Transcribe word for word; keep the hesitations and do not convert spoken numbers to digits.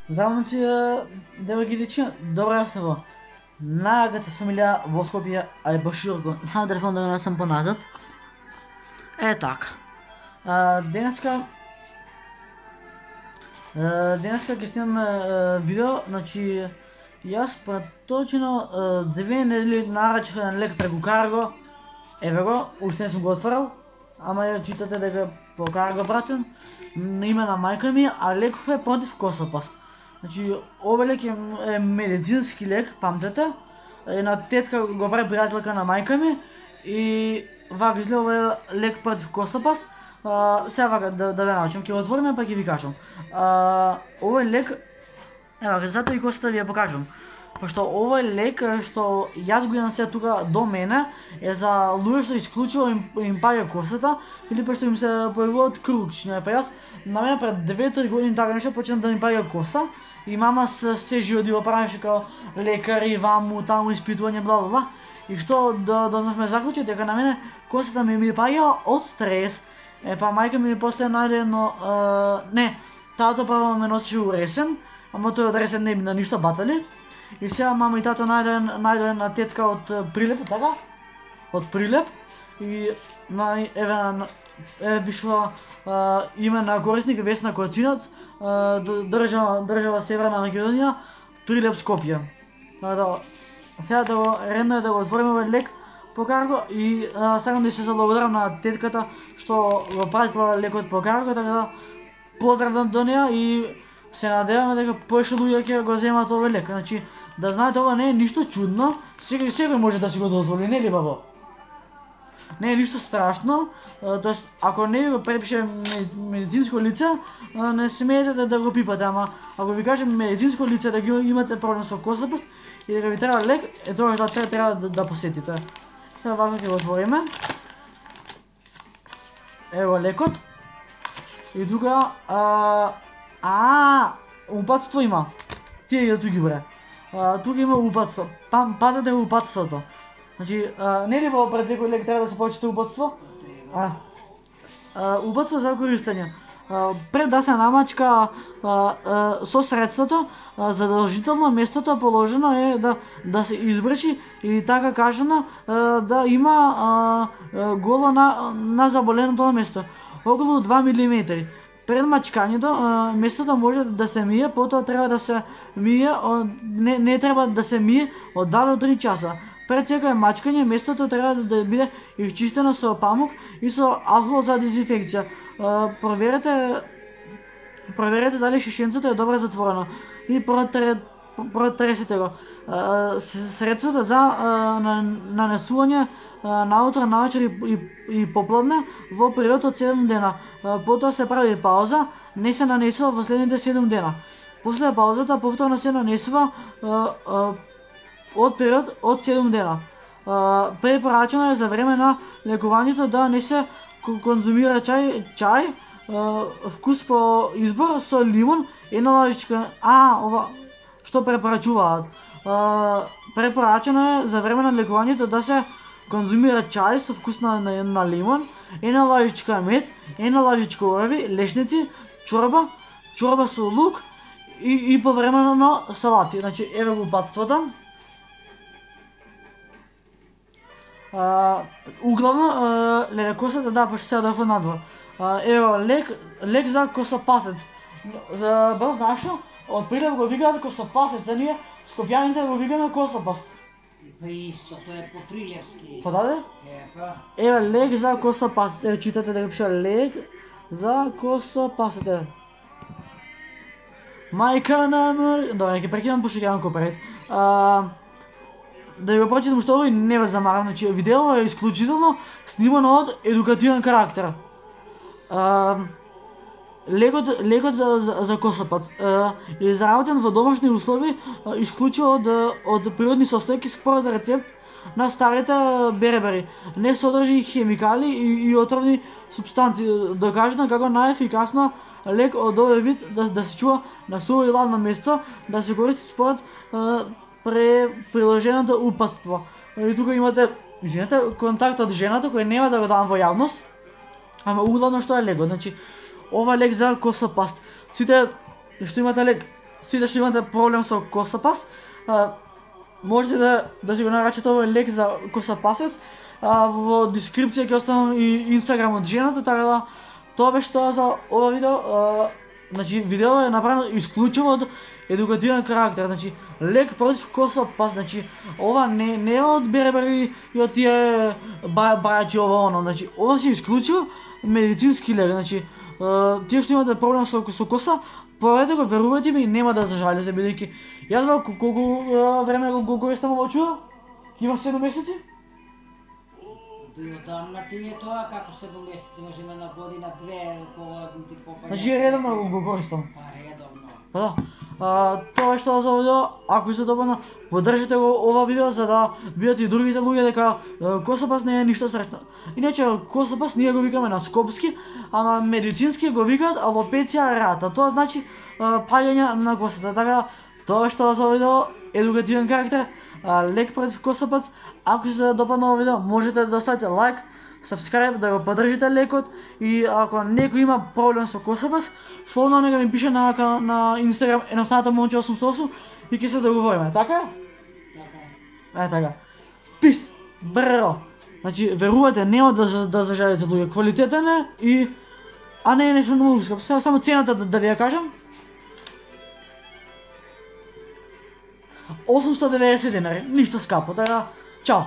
Здравници, девојки и дечиња, добро јавте во најаката фамилија во Скопје, а е Баширко. Само телефон да го несам поназад. Е така. А, денеска а, денеска ќе снимам видео, значи јас точно две недели нарачав еден лек преку Карго. Еве го, уште не сум го отворил, ама ја читате дека по Карго пратен на име на мајка ми, а леков е против косопаст. Значи, овој лек е медицински лек, памтете. Една тетка го прави пријателка на мајка ми и вака изгледа овој лек против косопаст. Сега вака да, да ве научам, ќе го отвориме па ќе ви кажам. А, овој лек, ева, затоа и косата ви ја покажам. Пошто овој лек што јас го имам сега тука до мене е за луѓе што исклучиво им, им паѓа косата или пошто им се појавуваат кручиња. Па јас на мене пред две-три години така нешто почна да ми паѓа коса и мама се се живодиво правеше као лекари, ваму, таму испитување, бла бла бла. И што да дознавме заклучок дека на мене косата ми ми паѓа од стрес. Е па мајка ми после најде едно е, не, тато прво ме носеше уресен, ама тој од ресен не би на ништо батали. И сега мама и тато најден најден тетка од Прилеп, така? Од Прилеп и на еве на еве пишува име на корисник Весна Коцинат, држава држава Северна Македонија, Прилеп Скопје. Така да сега да го редно е да го отвориме овој лек по Карго и сакам да се заблагодарам на тетката што го пратила лекот по Карго, така да поздрав до неа и се надеваме дека повеќе луѓе ќе го земат овој лек. Значи, да знаете, ова не е ништо чудно, секој секој може да си го дозволи, нели бабо? Не е ништо страшно, тоест ако не го препише медицинско лице, не смеете да, да го пипате, ама ако ви кажем медицинско лице да ги имате проблем со косопаст и дека ви треба лек, е тоа да треба, треба да, да посетите. Сега вака ќе го отвориме. Ево лекот. И тука а, а упатство има. Тие ја туки бре. А, тука има упатство. Па, пазете го упатството. Значи, а, не ли во пред секој лек треба да се почита упатство? А, а, упатство за користење. А, пред да се намачка а, а, со средството, а, задолжително местото положено е да да се избрчи или така кажано а, да има а, а, голо на на заболеното место. Околу два милиметри. Пред мачкањето местото може да се мие, потоа треба да се мие, не, не треба да се мие од два до три часа. Пред секој мачкање местото треба да, да биде изчистено со памук и со алкохол за дезинфекција. Проверете проверете дали шишенцето е добро затворено и протре, протресете го. Средството за нанесување наутро, навечер и, и, и попладне во период од седум дена. Потоа се прави пауза, не се нанесува во следните седум дена. После паузата повторно се нанесува од период од седум дена. Препорачено е за време на лекувањето да не се конзумира чај, чај вкус по избор со лимон, една лажичка. А, ова што препорачуваат. Препорачено е за време на лекувањето да се конзумира чај со вкус на, на, на лимон, една лажичка мед, една лажичка орви, лешници, чорба, чорба со лук и, и повремено салати. Значи, еве го упатството. Uh, углавно, uh, леле, косата, да, пошто сега да фу надвор. Uh, ево, лек, лек за косопасец. За бел знаеш што? Од Прилеп го викаат косопасец, а ние скопјаните го викаме косопаст. Па исто, тоа е по прилепски. Па даде? Е, па. Ево, лек за косопасец. Ево, читате дека пише лек за косопасец. Мајка на мор... Добре, ќе прекинам пошто ќе јам копрет. Uh, Да ја го прочитам што овој не ве замарам, значи видео е исклучително снимано од едукативен карактер. А, лекот лекот за за, за косопац е изработен во домашни услови, исклучиво од од природни состојки според рецепт на старите бербери. Не содржи хемикали и, и отровни супстанции. Докажано како најефикасно лек од овој вид да, да се чува на суво и ладно место, да се користи според пре приложеното упатство. И тука имате, извинете, контакт од жената кој нема да го дам во јавност, ама углавно што е лекот. Значи, ова лек за косопаст. Сите што имате лек сите што имате проблем со косапас, а, можете да да си го нарачате овој лек за косапасец. А, во дескрипција ќе оставам и Инстаграм од жената, така да тоа беше тоа за ова видео. А, значи видео е направено исклучиво од едукативен карактер, значи лек против косапас, значи ова не не е од бербери и од тие ба, бајачи ова оно, значи ова си исклучиво медицински лек, значи а, тие што имате проблем со со коса, проверете го, верувајте ми, нема да зажалите, бидејќи јас во колку време го го користам ова чудо? Има седум месеци? И одамна ти е тоа, како седум месеци, можеме на година, две, кога ти попадеш. Значи редовно го, го користам. Па редовно. Па да. А, тоа е што за видео. Ако се допадна, поддржите го ова видео за да видат и другите луѓе дека е, косапас не е ништо страшно. Иначе косапас ние го викаме на скопски, а на медицински го викаат алопеција рата. Тоа значи е, паѓање на косата. Така тоа е што за видео, едукативен карактер, а, лек против косапас. Ако се допадна ова видео, можете да оставите лайк, subscribe, да го поддржите лекот, и ако некој има проблем со косапас, слободно нека ми пише на на Инстаграм едноставното момче осумстотини и осум и ќе се договориме, така? Така е. Е, така. Пис, бро. Значи, верувате, нема да да зажалите луѓе, квалитетен е и а не е нешто многу скап. Сега само цената да, да ви ја кажам. осумстотини и деветдесет денари, ништо скапо, така. Чао.